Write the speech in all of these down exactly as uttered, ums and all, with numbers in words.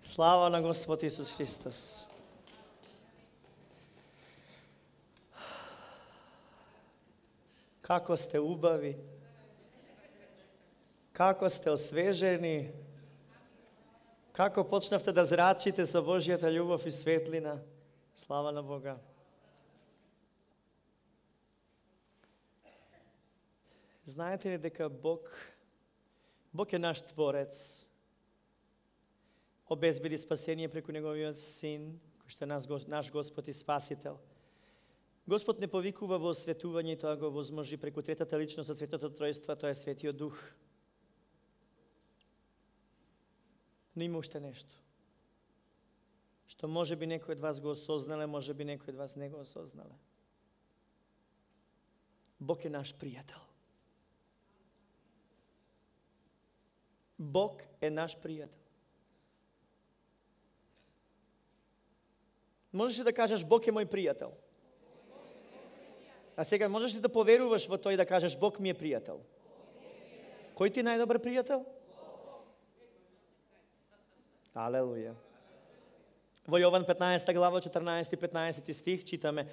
Слава на Господ Исус Христос. Како сте убави, како сте освежени, како почнавте да зрачите со Божјата љубов и светлина. Слава на Бога. Знаете ли дека Бог, Бог е наш Творец, обезбеди спасение преку Неговиот Син, кој што е наш, наш Господ и Спасител. Господ не повикува во осветување и тоа го возможи преку третата личност од Светото Тројство, тоа е Светиот Дух. Но има уште нешто, што може би некој од вас го осознале, може би некој од вас не го осознале. Бог е наш пријател. Бог е наш пријател. Можеш ли да кажеш Бог е мој пријател? А сега можеш ли да поверуваш во тој и да кажеш Бог ми е пријател? Кој ти е најдобар пријател? Алелуја. Во Јован петнаесета глава, четрнаесети и петнаесети стих читаме: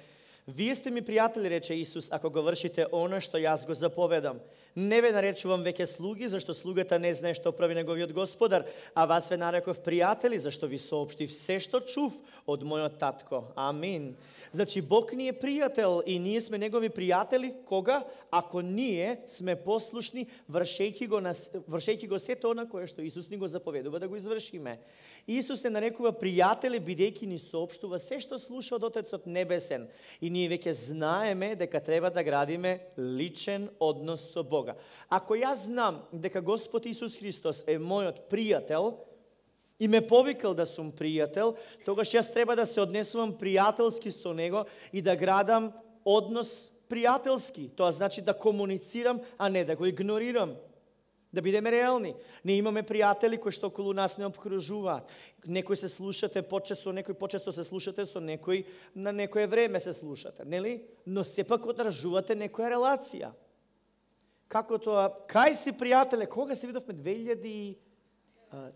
Вие сте ми пријатели, рече Исус, ако го вршите она што јас го заповедам. Не ве наречувам веќе слуги, зашто слугата не знае што прави неговиот господар, а вас ве нареков пријатели, зашто ви соопштив се што чув од мојот татко. Амин. Значи, Бог ни е пријател и ние сме негови пријатели, кога? Ако ние сме послушни, вршејќи го, на, вршејќи го сето она кое што Исус ни го заповедува да го извршиме. Исус не нарекува пријатели, бидејќи ни соопштува се што слуша од Отецот Небесен. И ние веќе знаеме дека треба да градиме личен однос со Бога. Ако јас знам дека Господ Исус Христос е мојот пријател, и ме повикал да сум пријател, тогаш јас треба да се однесувам пријателски со него и да градам однос пријателски. Тоа значи да комуницирам, а не да го игнорирам. Да бидеме реални. Не имаме пријатели кои што околу нас не обкружуваат. Некој се слушате почесто, некој почесто се слушате со некој, на некое време се слушате, нели? Но сепак одржувате некоја релација. Како тоа? Кај си пријателе? Кога се видовме? две илјади и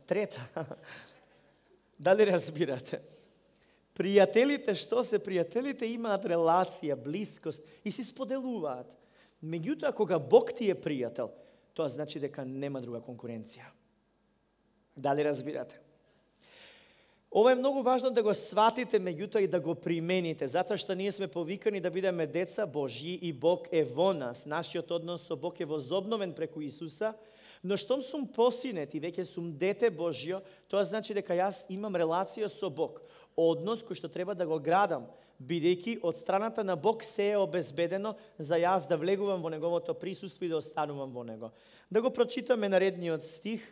трета. Дали разбирате? Пријателите, што се пријателите, имаат релација, блискост и си споделуваат. Меѓутоа, кога Бог ти е пријател, тоа значи дека нема друга конкуренција. Дали разбирате? Ова е многу важно да го сватите, меѓутоа и да го примените, затоа што ние сме повикани да бидеме деца Божји и Бог е во нас. Нашиот однос со Бог е возобновен преку Исуса, но штом сум посинет и веќе сум дете Божјо, тоа значи дека јас имам релација со Бог. Однос кој што треба да го градам, бидејќи од страната на Бог се е обезбедено за јас да влегувам во Неговото присуство и да останувам во Него. Да го прочитаме наредниот стих,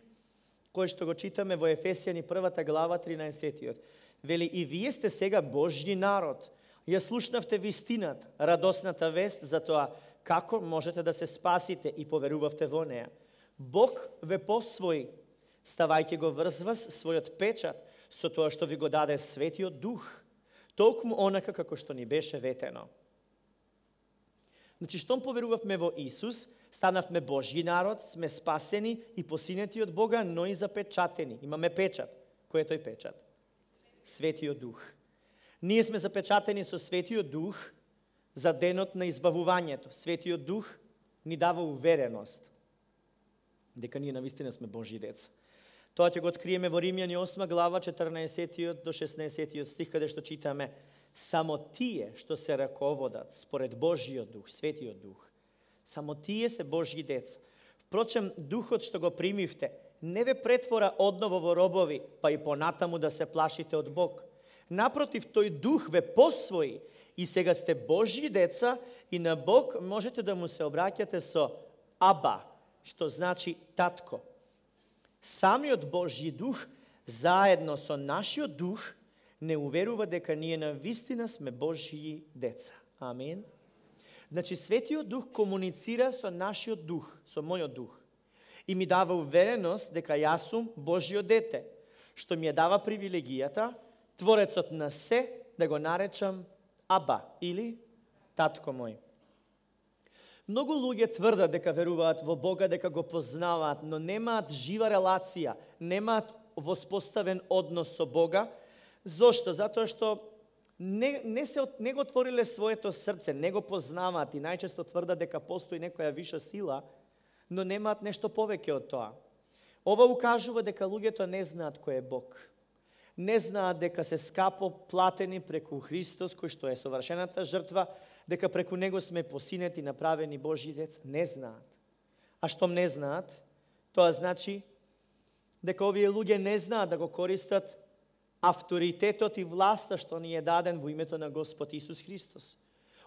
кој што го читаме во Ефесијани првата глава, тринаесетиот. Вели, и вие сте сега Божји народ. Ја слушнавте вистината, радосната вест за тоа како можете да се спасите и поверувавте во неја. Бог ве посвои, ставајќи го врз вас својот печат со тоа што ви го даде Светиот Дух, толкму онака како што ни беше ветено. Значи, штом поверувавме во Исус, станавме Божји народ, сме спасени и посинети од Бога, но и запечатени. Имаме печат. Кој е тој печат? Светиот Дух. Ние сме запечатени со Светиот Дух за денот на избавувањето. Светиот Дух ни дава увереност дека ние навистина сме Божји деца. Тоа ќе го откриеме во Римјани осма глава, четрнаесетиот до шеснаесетиот стих, каде што читаме: само тие што се раководат според Божјиот Дух, Светиот Дух, само тие се Божји деца. Впрочем, Духот што го примивте не ве претвора одново во робови, па и понатаму да се плашите од Бог. Напротив, тој Дух ве посвои и сега сте Божји деца и на Бог можете да му се обраќате со Аба, што значи татко. Самиот Божји Дух, заедно со нашиот Дух, не уверува дека ние навистина сме Божји деца. Амин. Значи, Светиот Дух комуницира со нашиот Дух, со мојот Дух. И ми дава увереност дека јас сум Божјо дете, што ми ја дава привилегијата, Творецот на се, да го наречам Аба, или татко мој. Многу луѓе тврдат дека веруваат во Бога, дека го познаваат, но немаат жива релација, немаат воспоставен однос со Бога. Зошто? Затоа што не, не, се, не го отвориле своето срце, не го познаваат и најчесто тврдат дека постои некоја виша сила, но немаат нешто повеќе од тоа. Ова укажува дека луѓето не знаат кој е Бог. Не знаат дека се скапо платени преку Христос, кој што е совршената жртва, дека преку Него сме посинети, направени Божји деца. Не знаат. А штом не знаат, тоа значи дека овие луѓе не знаат да го користат авторитетот и власта што ни е даден во името на Господ Исус Христос.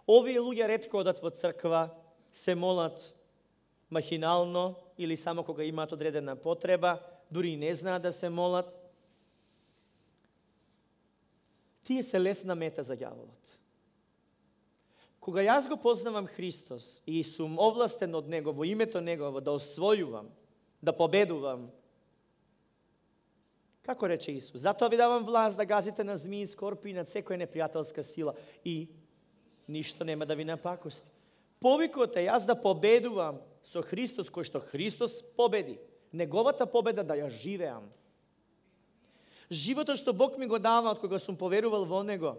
Овие луѓе ретко одат во црква, се молат махинално или само кога имаат одредена потреба, дури и не знаат да се молат. Тие се лесна мета за ѓаволот. Кога јас го познавам Христос и сум овластен од Него, во името Негово, да освојувам, да победувам, како рече Исус, затоа ви давам власт да газите на змии, скорпи и на секоја непријателска сила и ништо нема да ви напакости. Повикот е јас да победувам со Христос, кој што Христос победи. Неговата победа да ја живеам. Животот што Бог ми го дава од кога сум поверувал во Него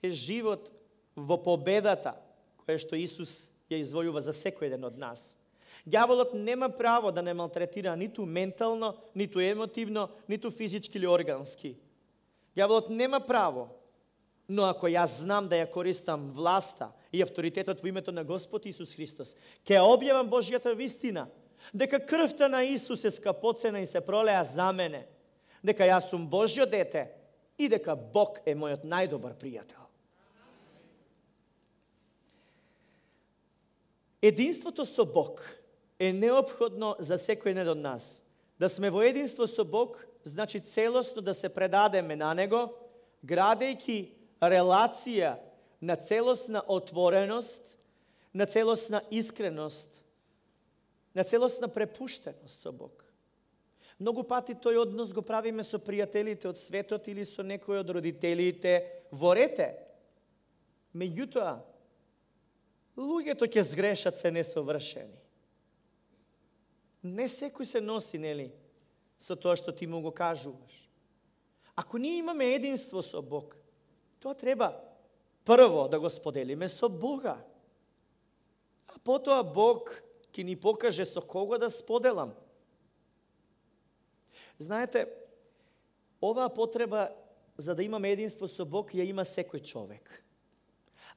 е живот во победата која што Исус ја извојува за секој еден од нас. Ѓаволот нема право да не малтретира ниту ментално, ниту емотивно, ниту физички или органски. Ѓаволот нема право, но ако јас знам да ја користам власта и авторитетот во името на Господ Исус Христос, ќе објавам Божјата вистина, дека крвта на Исус е скапоцена и се пролеа за мене, дека јас сум Божјо дете и дека Бог е мојот најдобар пријател. Единството со Бог е неопходно за секој еден од нас. Да сме во единство со Бог, значи целосно да се предадеме на Него, градејќи релација на целосна отвореност, на целосна искреност, на целосна препуштеност со Бог. Многу пати тој однос го правиме со пријателите од светот или со некој од родителите во рете. Меѓутоа, луѓето ќе сгрешат, се несовршени. Не секој се носи, нели, со тоа што ти му го кажуваш. Ако ние имаме единство со Бог, тоа треба прво да го споделиме со Бога. А потоа Бог ќе ни покаже со кого да споделам. Знаете, оваа потреба за да имаме единство со Бог ја има секој човек.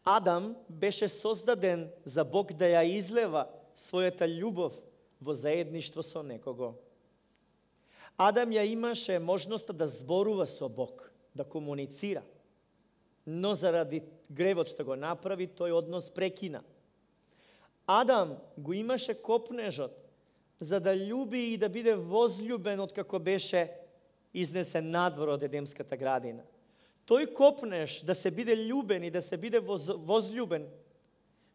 Адам беше создаден за Бог да ја излева својата љубов во заедништво со некого. Адам ја имаше можноста да зборува со Бог, да комуницира. Но заради гревот што го направи, тој однос прекина. Адам го имаше копнежот за да љуби и да биде возљубен откако беше изнесен надвор од Едемската градина. Тој копнеж да се биде љубен и да се биде воз, возљубен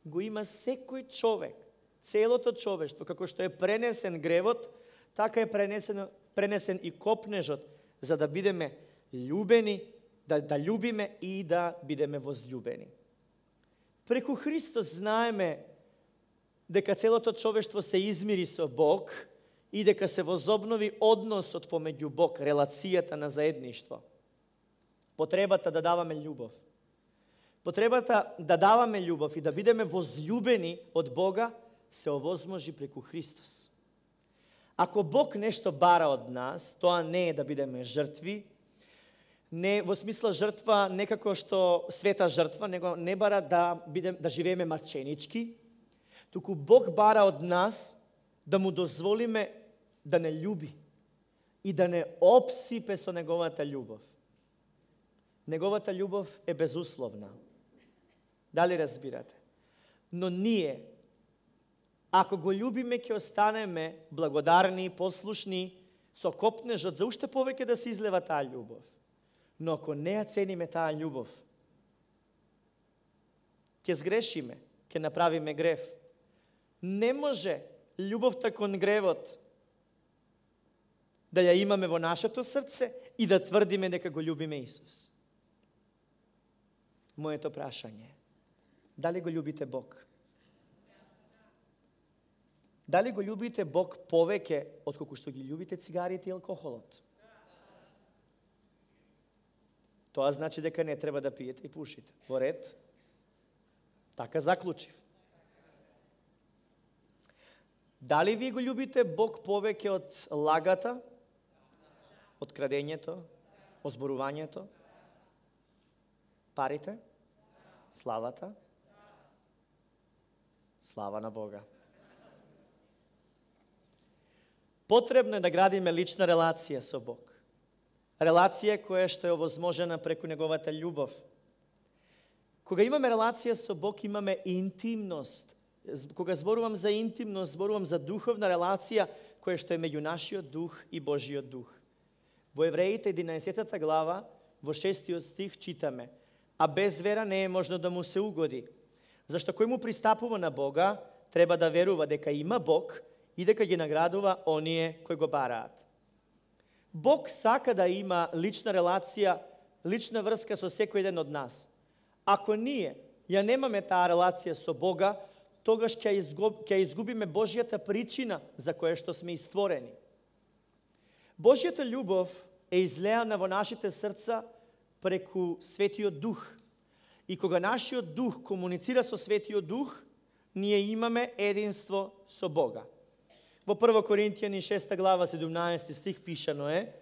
го има секој човек, целото човештво, како што е пренесен гревот, така е пренесен, пренесен и копнежот за да бидеме љубени, да, да љубиме и да бидеме возљубени. Преку Христос знаеме дека целото човештво се измири со Бог и дека се возобнови односот помеѓу Бог, релацијата на заедништво. Потребата да даваме љубов. Потребата да даваме љубов и да бидеме возљубени од Бога се овозможи преку Христос. Ако Бог нешто бара од нас, тоа не е да бидеме жртви, не во смисла жртва некако што света жртва, него не бара да бидем да живееме марченички, туку Бог бара од нас да му дозволиме да не љуби и да не обсипе со неговата љубов. Неговата љубов е безусловна. Дали разбирате? Но ние, ако го љубиме, ќе останеме благодарни, послушни, со копнежот за уште повеќе да се излева таа љубов. Но ако не ја цениме таа љубов, ќе сгрешиме, ќе направиме грев. Не може љубовта кон гревот да ја имаме во нашето срце и да тврдиме дека го љубиме Исус. Моето прашање е, дали го љубите Бог? Дали го љубите Бог повеќе отколку што ги љубите цигарите и алкохолот? Тоа значи дека не треба да пиете и пушите. Во ред? Така заклучив. Дали ви го љубите Бог повеќе од лагата, од крадењето, озборувањето, парите, славата? Слава на Бога. Потребно е да градиме лична релација со Бог. Релација која што е овозможена преку неговата љубов. Кога имаме релација со Бог, имаме интимност. Кога зборувам за интимност, зборувам за духовна релација која што е меѓу нашиот дух и Божиот дух. Во Евреите единаесеттата глава, во шестиот стих читаме: а без вера не е можно да му се угоди. Зашто кој му пристапува на Бога, треба да верува дека има Бог и дека ги наградува оние кои го бараат. Бог сака да има лична релација, лична врска со секој еден од нас. Ако ние ја немаме таа релација со Бога, тогаш ќе изгуб, ќе изгубиме Божјата причина за која што сме истворени. Божјата љубов е излеана во нашите срца преку Светиот Дух. И кога нашиот дух комуницира со Светиот Дух, ние имаме единство со Бога. Во прво Коринтијани шеста глава седумнаесети стих пишано е: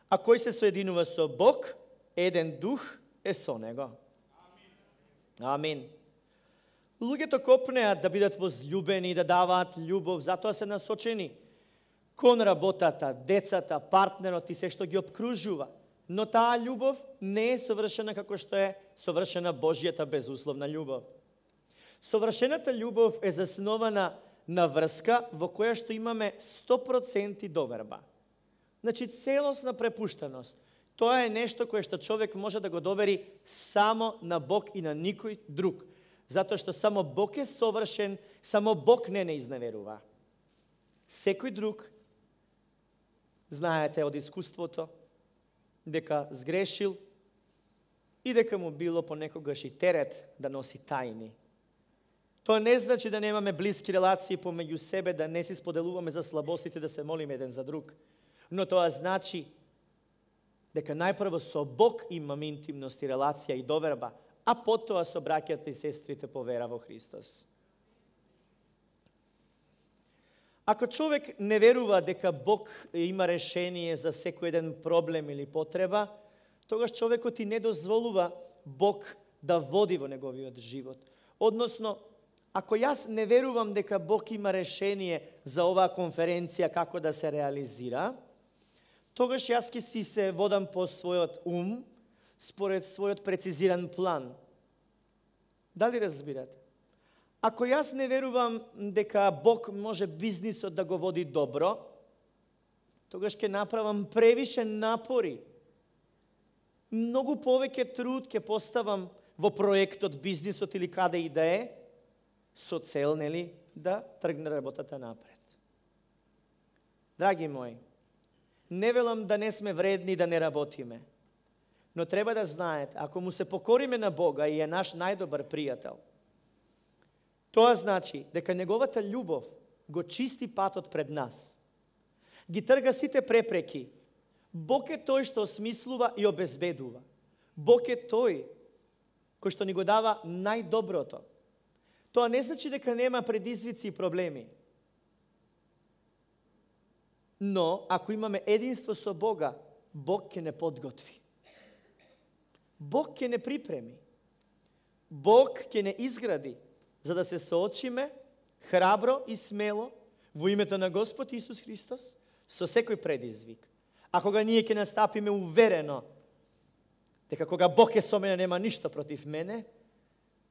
а кој се соединува со Бог, еден дух е со него. Амин. Луѓето копнеат да бидат возљубени и да даваат љубов, затоа се насочени кон работата, децата, партнерот и се што ги обкружува. Но таа љубов не е совршена како што е совршена Божјата безусловна љубов. Совршената љубов е заснована на врска во која што имаме сто проценти доверба. Значи, целосна препуштеност. Тоа е нешто кое што човек може да го довери само на Бог и на никој друг. Затоа што само Бог е совршен, само Бог не не изневерува. Секој друг, знаете од искуството, дека сгрешил и дека му било понекогаш и терет да носи тајни. Тоа не значи да немаме блиски релации помеѓу себе, да не си споделуваме за слабостите, да се молиме еден за друг. Но тоа значи дека најпрво со Бог имаме интимност и релација и доверба, а потоа со браќата и сестрите по вера во Христос. Ако човек не верува дека Бог има решение за секој еден проблем или потреба, тогаш човекот и не дозволува Бог да води во неговиот живот. Односно, ако јас не верувам дека Бог има решение за оваа конференција како да се реализира, тогаш јас ќе си се водам по својот ум, според својот прецизиран план. Дали разбирате? Ако јас не верувам дека Бог може бизнисот да го води добро, тогаш ќе направам превише напори. Многу повеќе труд ќе поставам во проектот, бизнисот или каде и да е, со цел, нели, да тргне работата напред. Драги мои, не велам да не сме вредни да не работиме, но треба да знаете, ако му се покориме на Бога и е наш најдобар пријател, тоа значи дека неговата љубов го чисти патот пред нас, ги трга сите препреки. Бог е тој што осмислува и обезбедува. Бог е тој кој што ни го дава најдоброто. Тоа не значи дека нема предизвици и проблеми. Но, ако имаме единство со Бога, Бог ќе не подготви. Бог ќе не припреми. Бог ќе не изгради, за да се соочиме храбро и смело во името на Господ Исус Христос со секој предизвик. А кога ние ќе настапиме уверено дека кога Бог е со мене нема ништо против мене,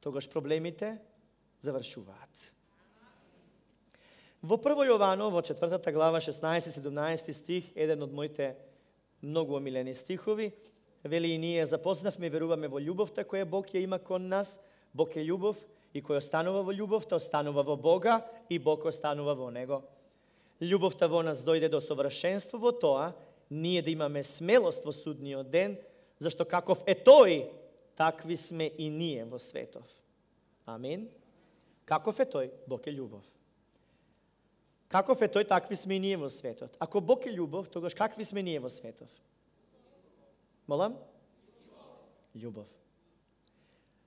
тогаш проблемите завршуваат. Во прво Јовано, во четвртата глава, шеснаесети-седумнаесети стих, еден од моите многу омилени стихови, вели: и ние запознавме и веруваме во љубовта која Бог ја има кон нас. Бог е љубов и кој останува во љубовта, останува во Бога и Бог останува во него. Љубовта во нас дојде до совршенство во тоа, ние да имаме смелост во судниот ден, зашто каков е тој, такви сме и ние во светов. Амин. Каков е тој? Бог е љубов. Каков е тој, такви сме и ние во светот. Ако Бог е љубов, тогаш какви сме ние во светов? Молам? љубов.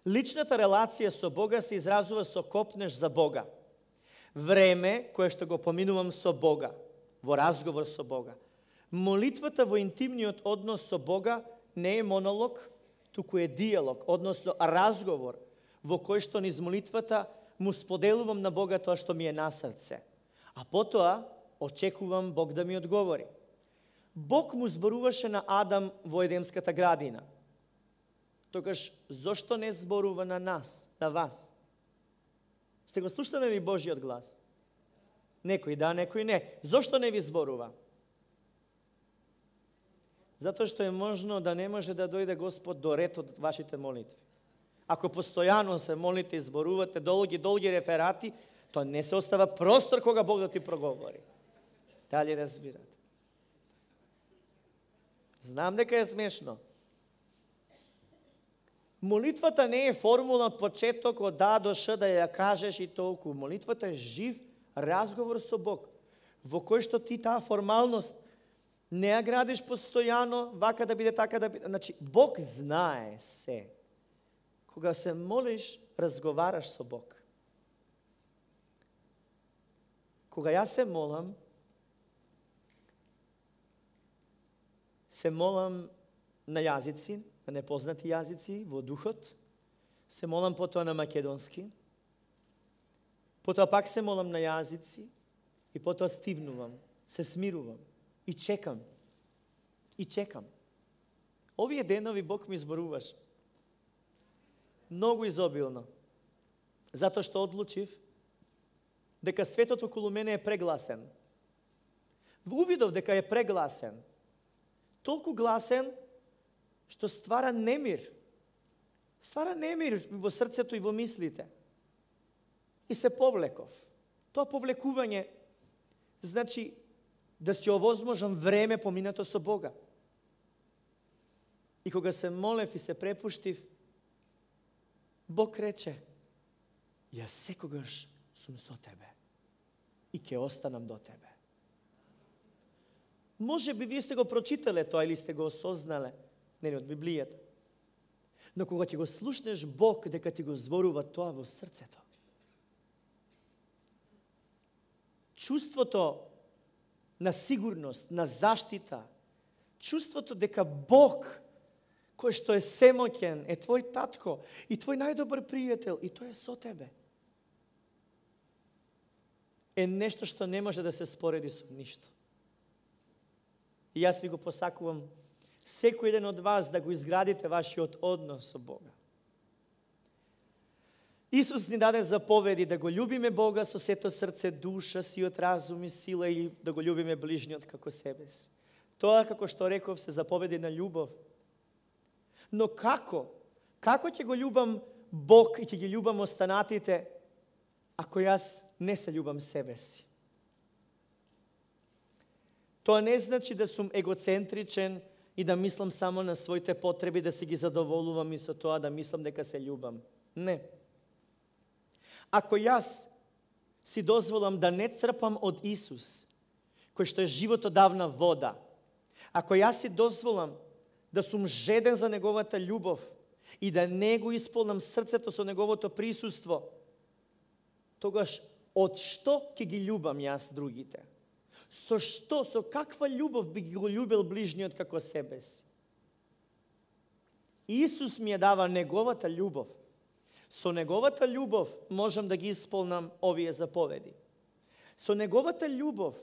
Личната релација со Бога се изразува со копнеш за Бога. Време кое што го поминувам со Бога, во разговор со Бога. Молитвата во интимниот однос со Бога не е монолог, туку е диалог, односно разговор, во кој што низ молитвата му споделувам на Бога тоа што ми е на срце. А потоа очекувам Бог да ми одговори. Бог му зборуваше на Адам во Едемската градина. Тогаш, зошто не зборува на нас, на вас? Сте го слушнали ли Божиот глас? Некој да, некој не. Зошто не ви зборува? Затоа што е можно да не може да дојде Господ до ред од вашите молитви. Ако постојано се молите и зборувате долги, долги реферати, тоа не се остава простор кога Бог да ти проговори. Дали разбирате? Знам дека е смешно. Молитвата не е формула од почеток од А до Ш да ја кажеш и толку. Молитвата е жив разговор со Бог, во кој што ти таа формалност не ја градиш постојано, вака да биде, така да биде. Значи, Бог знае се. Кога се молиш, разговараш со Бог. Кога јас се молам, се молам на јазици, на непознати јазици, во духот, се молам потоа на македонски, потоа пак се молам на јазици и потоа стивнувам, се смирувам и чекам. И чекам. Овие денови Бог ми зборуваш. Многу изобилно. Затоа што одлучив дека светот околу мене е прегласен. Увидов дека е прегласен. Толку гласен што ствара немир. Ствара немир во срцето и во мислите. И се повлеков. Тоа повлекување значи да си овозможам време поминато со Бога. И кога се молев и се препуштив, Бог рече, јас секогаш сум со тебе и ќе останам до тебе. Може би вие сте го прочитале тоа или сте го осознале, не од Библијата. Но кога ќе го слушнеш Бог дека ти го зборува тоа во срцето, чувството на сигурност, на заштита, чувството дека Бог, кој што е семоќен, е твој татко и твој најдобар пријател и тој е со тебе, е нешто што не може да се спореди со ништо. И јас ви го посакувам секој еден од вас да го изградите вашиот однос со Бога. Исус ни даде заповеди да го љубиме Бога со сето срце, душа, сиот разум и сила и да го љубиме ближниот како себе си. Тоа, како што реков, се заповеди на љубов. Но како? Како ќе го љубам Бог и ќе ги љубам останатите, ако јас не се љубам себе си? Тоа не значи да сум егоцентричен и да мислам само на своите потреби, да се ги задоволувам и со тоа да мислам дека се љубам. Не. Ако јас си дозволам да не црпам од Исус, кој што е животодавна вода, ако јас си дозволам да сум жеден за Неговата љубов и да не го исполнам срцето со Неговото присуство, тогаш од што ќе ги љубам јас другите? Со што, со каква љубов би го љубил ближниот како себе си? Исус ми ја дава Неговата љубов. Со Неговата љубов можам да ги исполнам овие заповеди. Со Неговата љубов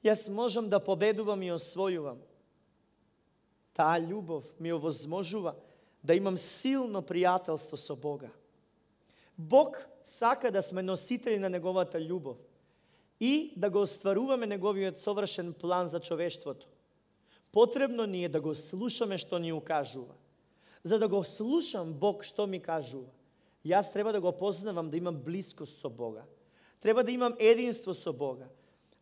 јас можам да победувам и освојувам. Таа љубов ми овозможува да имам силно пријателство со Бога. Бог сака да сме носители на Неговата љубов и да го остваруваме Неговиот совршен план за човештвото. Потребно ни е да го слушаме што ни укажува. За да го слушам Бог што ми кажува, јас треба да го познавам, да имам блискост со Бога. Треба да имам единство со Бога.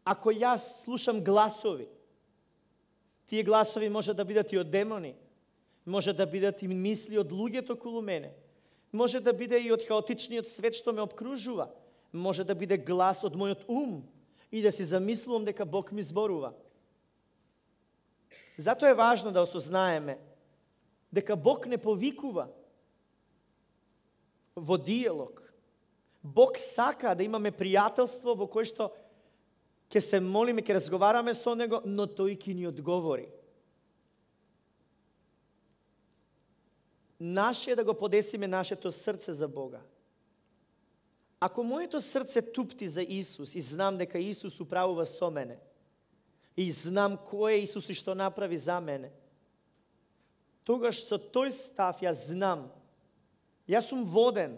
Ако јас слушам гласови, тие гласови може да бидат и од демони, може да бидат и мисли од луѓето околу мене, може да биде и од хаотичниот свет што ме обкружува, може да биде глас од мојот ум и да си замислувам дека Бог ми зборува. Затоа е важно да осознаеме дека Бог не повикува во диалог. Бог сака да имаме пријателство во кое што ќе се молиме, ќе разговараме со Него, но Тој ќе ни одговори. Наше е да го подесиме нашето срце за Бога. Ако моето срце тупти за Исус и знам дека Исус управува со мене, и знам кој е Исус и што направи за мене, тогаш со тој став јас знам, јас сум воден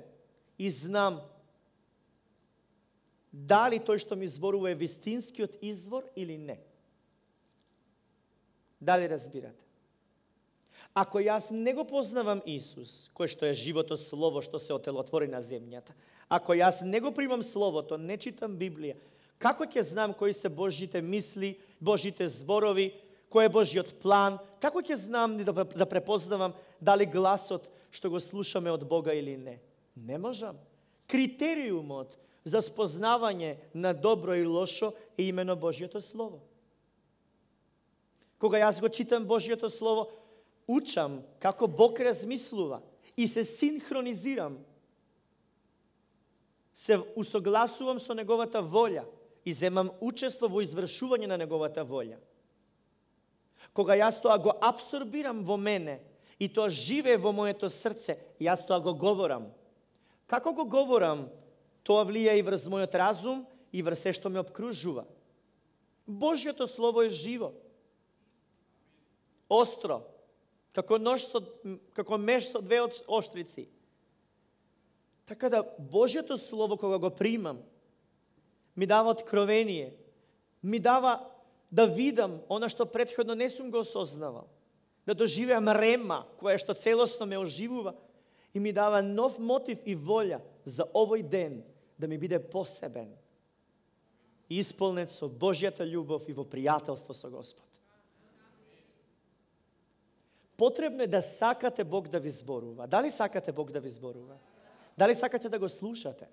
и знам дали тој што ми зборува е вистинскиот извор или не. Дали разбирате? Ако јас не го познавам Исус, кој што е живото слово што се отелотвори на земјата, ако јас не го примам Словото, не читам Библија, како ќе знам кои се Божите мисли, Божите зборови, кој е Божиот план, како ќе знам да, да препознавам дали гласот што го слушаме од Бога или не? Не можам. Критериумот за спознавање на добро и лошо е имено Божиото Слово. Кога јас го читам Божиото Слово, учам како Бог размислува и се синхронизирам. Се усогласувам со Неговата волја и земам учество во извршување на Неговата волја. Кога јас тоа го абсорбирам во мене и тоа живее во моето срце, јас тоа го говорам. Како го говорам, тоа влија и врз мојот разум и врз се што ме обкружува. Божјото Слово е живо, остро, како нож со, како меч со двеоштрици. Така да Божјото Слово кога го примам, ми дава откровение, ми дава да видам она што претходно не сум го осознавал, да доживеам рема која што целосно ме оживува и ми дава нов мотив и волја за овој ден да ми биде посебен, исполнет со Божјата љубов и во пријателство со Господ. Потребно е да сакате Бог да ви зборува. Дали сакате Бог да ви зборува? Дали сакате да го слушате?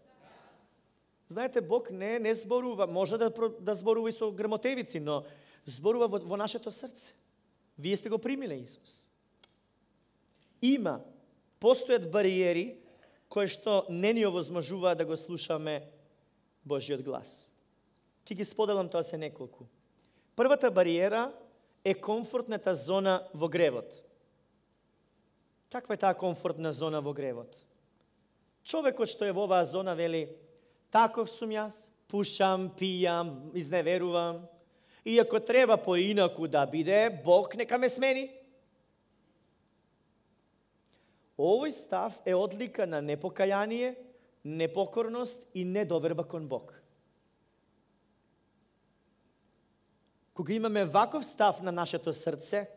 Знаете, Бог не не зборува, може да, да зборува и со грмотевици, но зборува во, во нашето срце. Вие сте го примиле Исус. Има, постојат бариери кои што не ни овозможуваат да го слушаме Божиот глас. Ки ги споделам тоа се неколку. Првата бариера е комфортната зона во гревот. Каква е таа комфортна зона во гревот? Човекот што е во оваа зона вели: таков сум јас, пушам, пијам, изневерувам, и ако треба поинаку да биде, Бог нека ме смени. Овој став е одлика на непокаяние, непокорност и недоверба кон Бог. Кога имаме ваков став на нашето срце,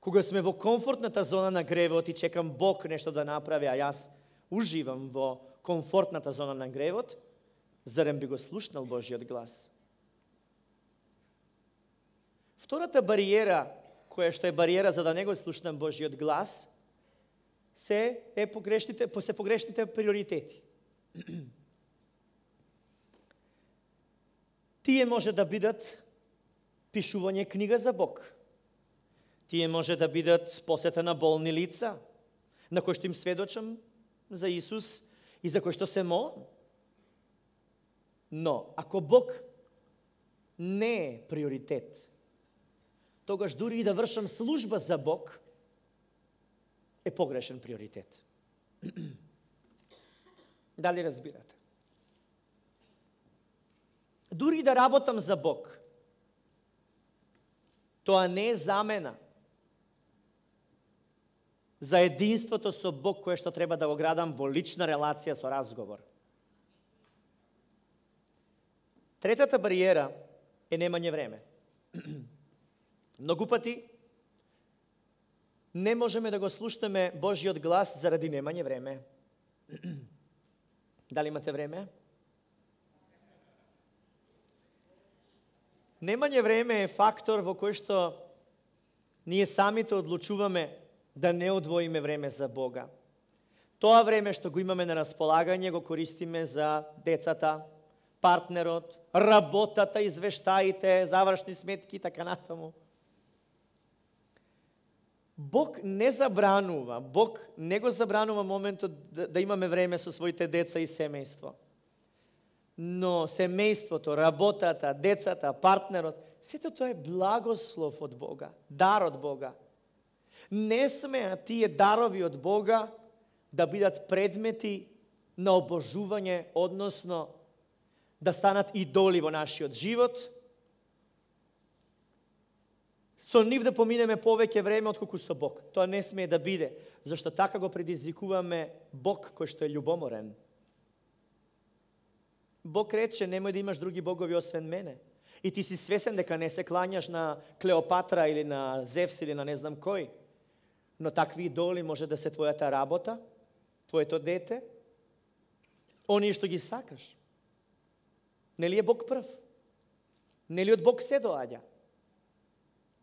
кога сме во комфортната зона на гревот и чекам Бог нешто да направи, а јас уживам во комфортната зона на гревот, зарем би го слушнал Божиот глас? Втората бариера, која што е бариера за да не го слушнам Божиот глас, се е погрешните, се погрешните приоритети. Тие може да бидат пишување книга за Бог. Тие може да бидат посета на болни лица, на кои што им сведочам за Исус и за кои што се молам. Но, ако Бог не е приоритет, тогаш дури и да вршам служба за Бог, е погрешен приоритет. Дали разбирате? Дури да работам за Бог, тоа не е замена за единството со Бог кое што треба да го градам во лична релација со разговор. Третата бариера е немање време. Многу пати не можеме да го слушнеме Божиот глас заради немање време. Дали имате време? Немање време е фактор во кој што ние самите одлучуваме да не одвоиме време за Бога. Тоа време што го имаме на располагање го користиме за децата, партнерот, работата, извештаите, завршни сметки и така натаму. Бог не забранува, Бог не го забранува моментот да, да имаме време со своите деца и семејство. Но семејството, работата, децата, партнерот, сето тоа е благослов од Бога, дар од Бога. Не смеа тие дарови од Бога да бидат предмети на обожување, односно да станат идоли во нашиот живот, со нив да поминеме повеќе време отколку со Бог. Тоа не смее да биде, зашто така го предизвикуваме Бог кој што е љубоморен. Бог рече, немој да имаш други богови освен мене. И ти си свесен дека не се клањаш на Клеопатра или на Зевс или на не знам кој. Но такви идоли може да се твојата работа, твоето дете, оние што ги сакаш. Нели е Бог прв? Нели од Бог се доаѓа?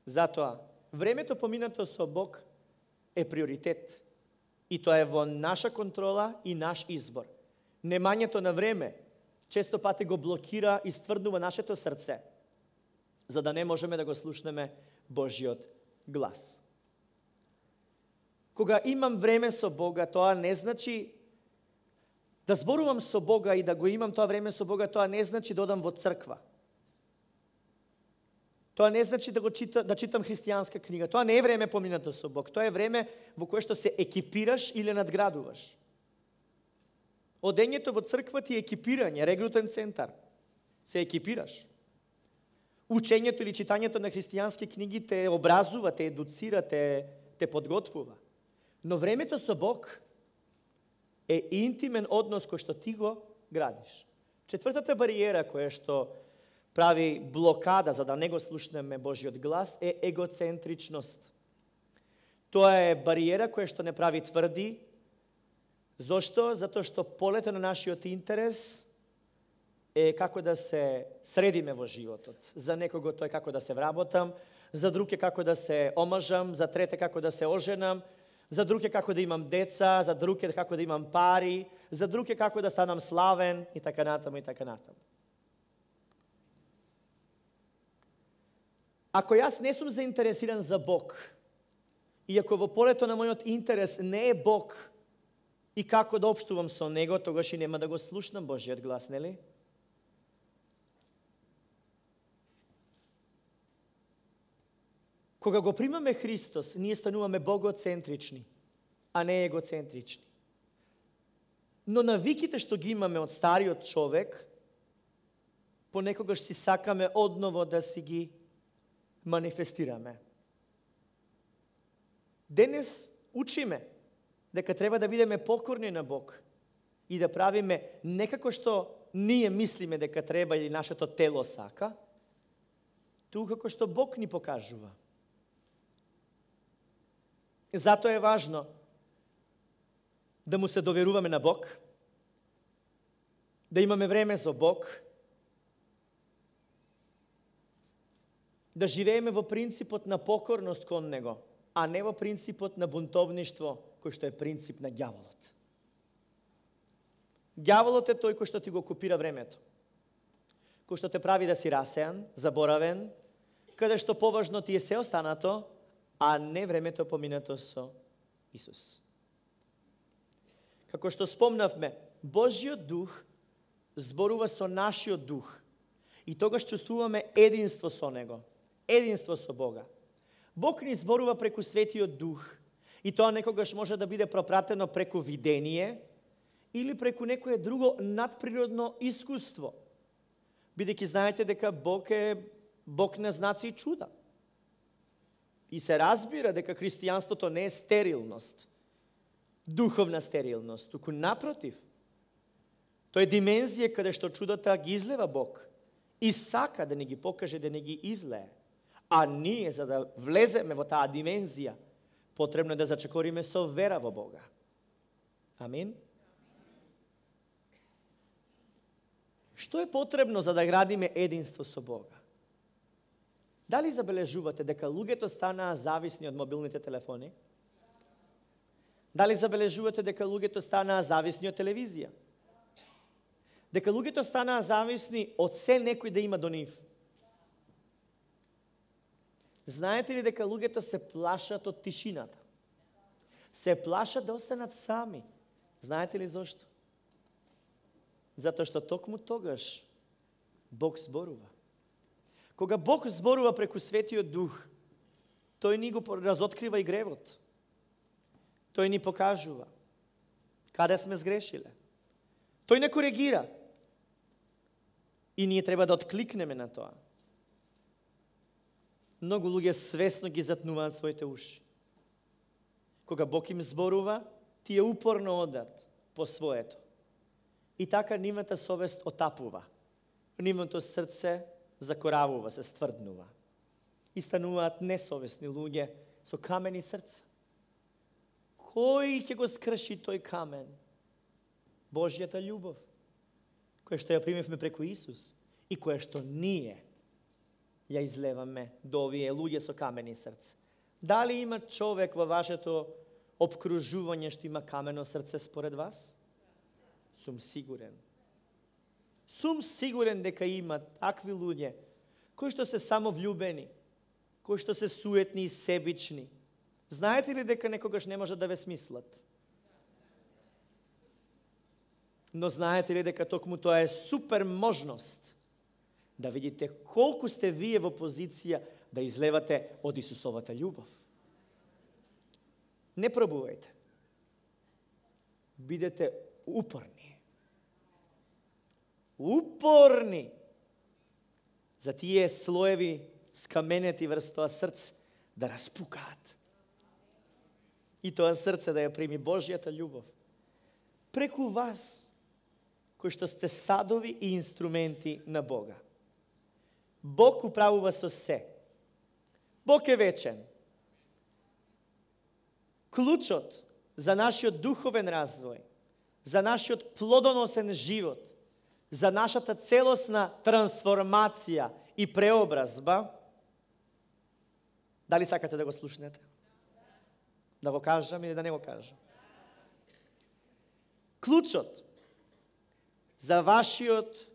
Затоа, времето поминато со Бог е приоритет. И тоа е во наша контрола и наш избор. Немањето на време често пати го блокира и стврдува нашето срце, за да не можеме да го слушнеме Божиот глас. Кога имам време со Бога, тоа не значи да зборувам со Бога и да го имам тоа време со Бога, тоа не значи да одам во црква. Тоа не значи да го чита, да читам христијанска книга. Тоа не е време поминато со Бог. Тоа е време во кое што се екипираш или надградуваш. Одењето во црква ти е екипирање, регрутен центар. Се екипираш. Учењето или читањето на христијански книги те образува, те едуцира, те, те подготвува. Но времето со Бог е интимен однос кој што ти го градиш. Четвртата бариера која што прави блокада за да не го слушнеме Божиот глас е егоцентричност. Тоа е бариера која што не прави тврди. Зошто? Затоа што полето на нашиот интерес е како да се средиме во животот. За некого тоа е како да се вработам, за друг е како да се омажам, за трете како да се оженам, за друг е како да имам деца, за друг е како да имам пари, за друг е како да станам славен и така натаму и така натаму. Ако јас не сум заинтересиран за Бог, и ако во полето на мојот интерес не е Бог и како да општувам со Него, тогаш и нема да го слушнам Божиот глас, нели? Кога го примаме Христос, ние стануваме богоцентрични, а не егоцентрични. Но навиките што ги имаме од стариот човек, понекогаш си сакаме одново да си ги манифестираме. Денес учиме дека треба да бидеме покорни на Бог и да правиме не како што ние мислиме дека треба или нашето тело сака, туку како што Бог ни покажува. Затоа е важно да му се доверуваме на Бог, да имаме време за Бог, да живееме во принципот на покорност кон Него, а не во принципот на бунтовништво, кој што е принцип на ѓаволот. Ѓаволот е тој кој што ти го окупира времето, кој што те прави да си расеан, заборавен, каде што поважно ти е се останато, а не времето поминато со Исус. Како што спомнавме, Божиот дух зборува со нашиот дух и тогаш чувствуваме единство со Него, единство со Бога. Бог ни зборува преку Светиот Дух и тоа некогаш може да биде пропратено преку видение или преку некое друго надприродно искуство. Бидејќи знаете дека Бог е Бог на знаци и чуда. И се разбира дека христијанството не е стерилност, духовна стерилност, туку напротив. Тоа е димензија каде што чудата ги излева Бог и сака да ни ги покаже, да ни ги излее. А ние, за да влеземе во таа димензија, потребно е да зачекориме со вера во Бога. Амин? Што е потребно за да градиме единство со Бога? Дали забележувате дека луѓето станаа зависни од мобилните телефони? Дали забележувате дека луѓето станаа зависни од телевизија? Дека луѓето станаа зависни од се некој да има до нив? Знаете ли дека луѓето се плашат од тишината? Се плашат да останат сами. Знаете ли зошто? Затоа што токму тогаш Бог зборува. Кога Бог зборува преку Светиот Дух, тој ни го разоткрива и гревот. Тој ни покажува каде сме сгрешиле. Тој не коригира. И ние треба да откликнеме на тоа. Многу луѓе свесно ги затнуваат своите уши. Кога Бог им зборува, тие упорно одат по своето. И така нивната совест отапува. Нивното срце закоравува, се стврднува. И стануваат несовесни луѓе со камени срца. Кој ќе го скрши тој камен? Божјата љубов, која што ја примевме преку Исус и која што ние ја излеваме до овие луѓе со камени срца. Дали има човек во вашето обкружување што има камено срце според вас? Сум сигурен. Сум сигурен дека има такви луѓе кои што се само влюбени, кои што се суетни и себични. Знаете ли дека некогаш не можат да ве смислат? Но знаете ли дека токму тоа е супер можност да видите колку сте вие во позиција да излевате од Исусовата љубов. Не пробувајте. Бидете упорни. Упорни за тие слоеви скаменети врз тоа срце да распукаат. И тоа срце да ја прими Божјата љубов преку вас, кои што сте садови и инструменти на Бога. Бог управува со се. Бог е вечен. Клучот за нашиот духовен развој, за нашиот плодоносен живот, за нашата целосна трансформација и преобразба, дали сакате да го слушнете? Да го кажам или да не го кажам? Клучот за вашиот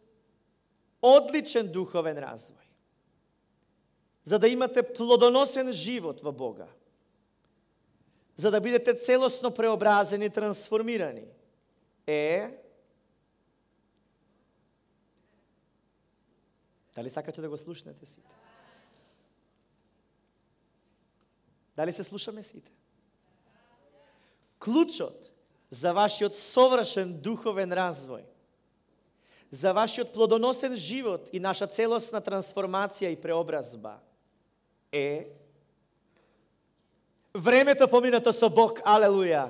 одличен духовен развој, за да имате плодоносен живот во Бога, за да бидете целосно преобразени и трансформирани, е... Дали сакате да го слушнете сите? Дали се слушаме сите? Клучот за вашиот совршен духовен развој, за вашиот плодоносен живот и наша целосна трансформација и преобразба е времето поминато со Бог. Алелуја!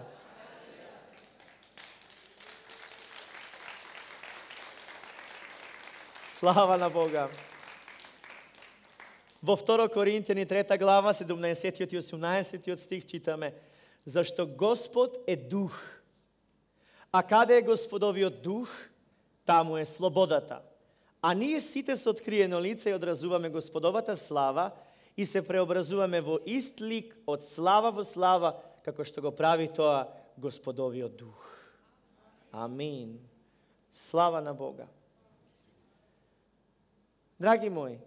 Слава на Бога! Во второ Коринтијани трета глава, седумнаесеттиот и осумнаесеттиот стих читаме: зашто Господ е дух, а каде е Господовиот дух, таму е слободата. А ние сите со откриено лице одразуваме Господовата слава и се преобразуваме во ист лик од слава во слава, како што го прави тоа Господовиот дух. Амин. Слава на Бога. Драги мои,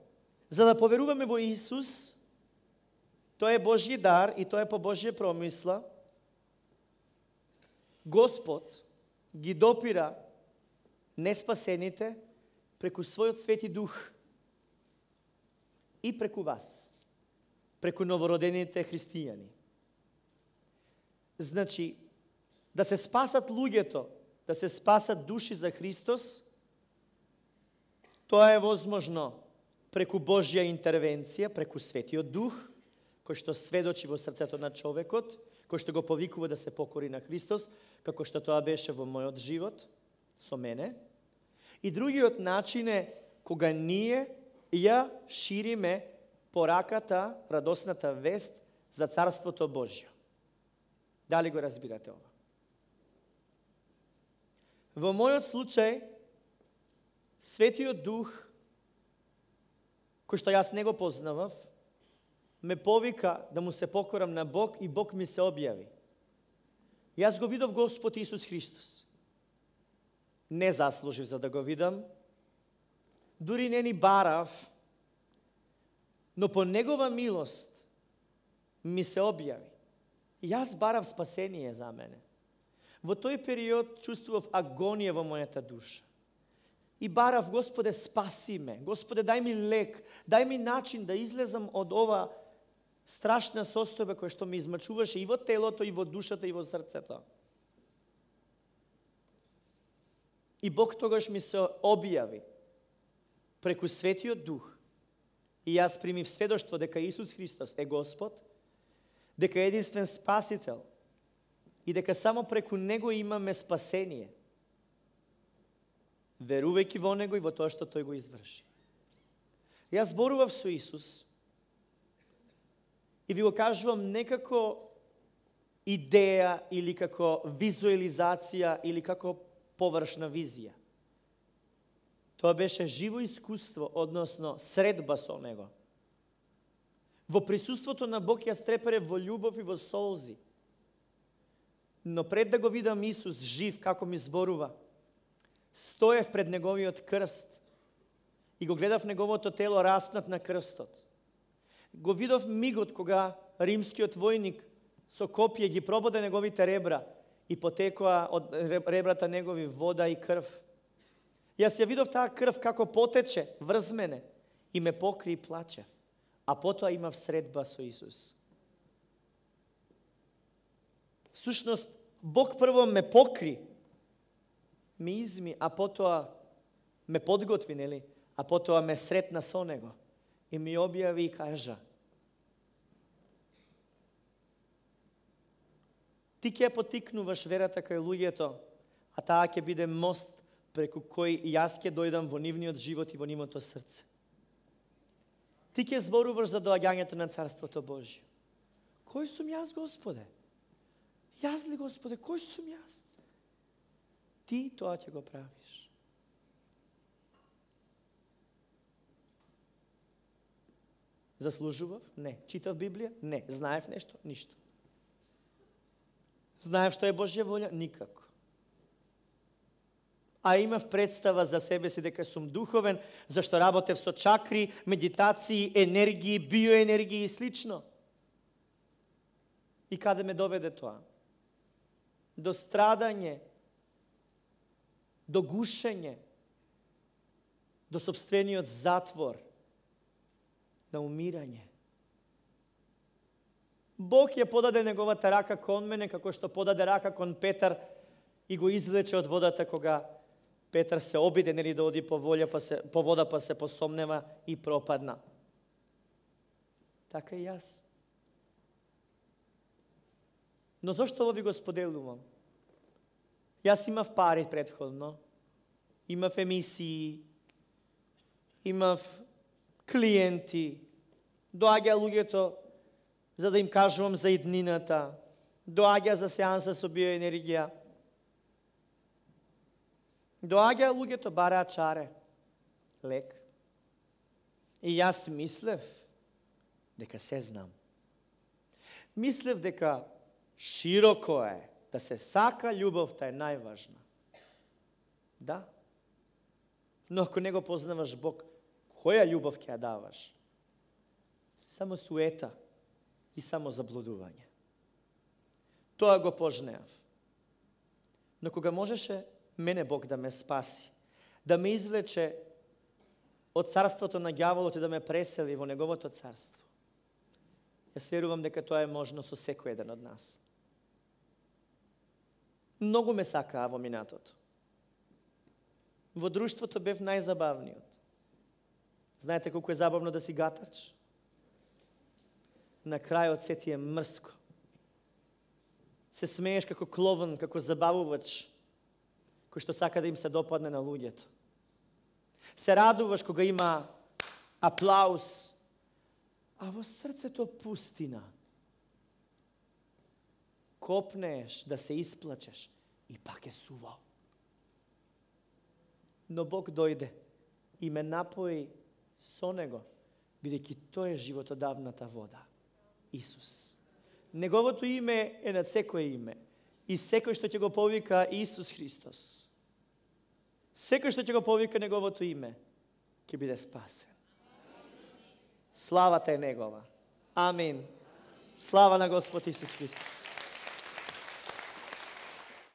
за да поверуваме во Исус, тоа е Божји дар и тоа е по Божја промисла, Господ ги допира неспасените преку својот Свети Дух и преку вас, преку новородените христијани. Значи, да се спасат луѓето, да се спасат души за Христос, тоа е возможно преку Божја интервенција, преку Светиот Дух, кој што сведочи во срцето на човекот, кој што го повикува да се покори на Христос, како што тоа беше во мојот живот, со мене. И другиот начин е кога ние ја шириме пораката, радосната вест за Царството Божјо. Дали го разбирате ова? Во мојот случај, Светиот Дух, кој што јас не го познавав, ме повика да му се покорам на Бог и Бог ми се објави. Јас го видов Господ Исус Христос. Не заслужив за да го видам, дури не ни барав, но по Негова милост ми се објави. Јас барав спасение за мене. Во тој период чувствував агонија во мојата душа. И барав, Господе, спаси ме. Господе, дај ми лек, дај ми начин да излезам од ова страшна состојба која што ми измачуваше и во телото, и во душата, и во срцето. И Бог тогаш ми се објави преку Светиот Дух. И јас примив сведоштво дека Исус Христос е Господ, дека е единствен Спасител и дека само преку Него имаме спасение, верувајќи во Него и во тоа што Тој го изврши. Јас зборував со Исус и ви го кажувам не како идеја или како визуализација или како површна визија. Тоа беше живо искуство, односно средба со Него. Во присуството на Бог јас треперев во љубов и во солзи. Но пред да го видам Исус жив, како ми зборува, стоев пред Неговиот крст и го гледав Неговото тело распнат на крстот. Го видов мигот кога римскиот војник со копје ги прободе Неговите ребра и потекоа од ребрата Негови вода и крв. Јас ја видов таа крв како потече врз мене и ме покри и плачев. А потоа имав средба со Исус. Всушност, Бог прво ме покри, ме изми, а потоа ме подготви, нели? А потоа ме сретна со Него и ми објави и кажа: ти ќе потикнуваш верата кај луѓето, а таа ќе биде мост преку кој јас ќе дојдам во нивниот живот и во нивното срце. Ти ќе зборуваш за доаѓањето на Царството Божие. Кој сум јас, Господе? Јас ли, Господе, кој сум јас? Ти тоа ќе го правиш. Заслужував? Не. Читав Библија? Не. Знаев нешто? Ништо. Знаев што е Божја волја? Никако. А имав представа за себе си дека сум духовен, зашто работев со чакри, медитации, енергии, биоенергии и слично. И каде ме доведе тоа? До страдање, до гушење, до сопствениот затвор, на умирање. Бог ја подаде Неговата рака кон мене, како што подаде рака кон Петар и го извлече од водата кога Петар се обиде нели да оди по волја, па се по вода, па се посомнева и пропадна. Така и јас. Но зошто ово ви го споделувам? Јас имав пари претходно, имав емисии, имав клиенти, доаѓа луѓето за да им кажувам за иднината, доаѓа за сеанса со биоенергија, доаѓа луѓето бараат чаре, лек. И јас мислев дека се знам. Мислев дека широко е, да се сака, љубовта е најважна. Да. Но ако не го познаваш Бог, која љубов ќе ја даваш? Само суета и само заблудување. Тоа го пожнеав. Но кога можеше мене Бог да ме спаси, да ме извлече од царството на ѓаволот и да ме пресели во Неговото царство, јас верувам дека тоа е можно со секој еден од нас. Многу ме сакаа во минатото. Во друштвото бев најзабавниот. Знаете колку е забавно да си гатач? На крајот се ти е мрско. Се смееш како кловн, како забавувач, кој што сака да им се допадне на луѓето. Се радуваш кога има аплаус, а во срцето пустина. Копнеш да се исплачеш и пак е суво. Но Бог дојде и ме напои со Него, бидејќи тој е животодавната вода. Исус. Неговото име е над секое име. И секој што ќе го повика Исус Христос, секој што ќе го повика Неговото име, ќе биде спасен. Славата е Негова. Амин. Слава на Господ Исус Христос.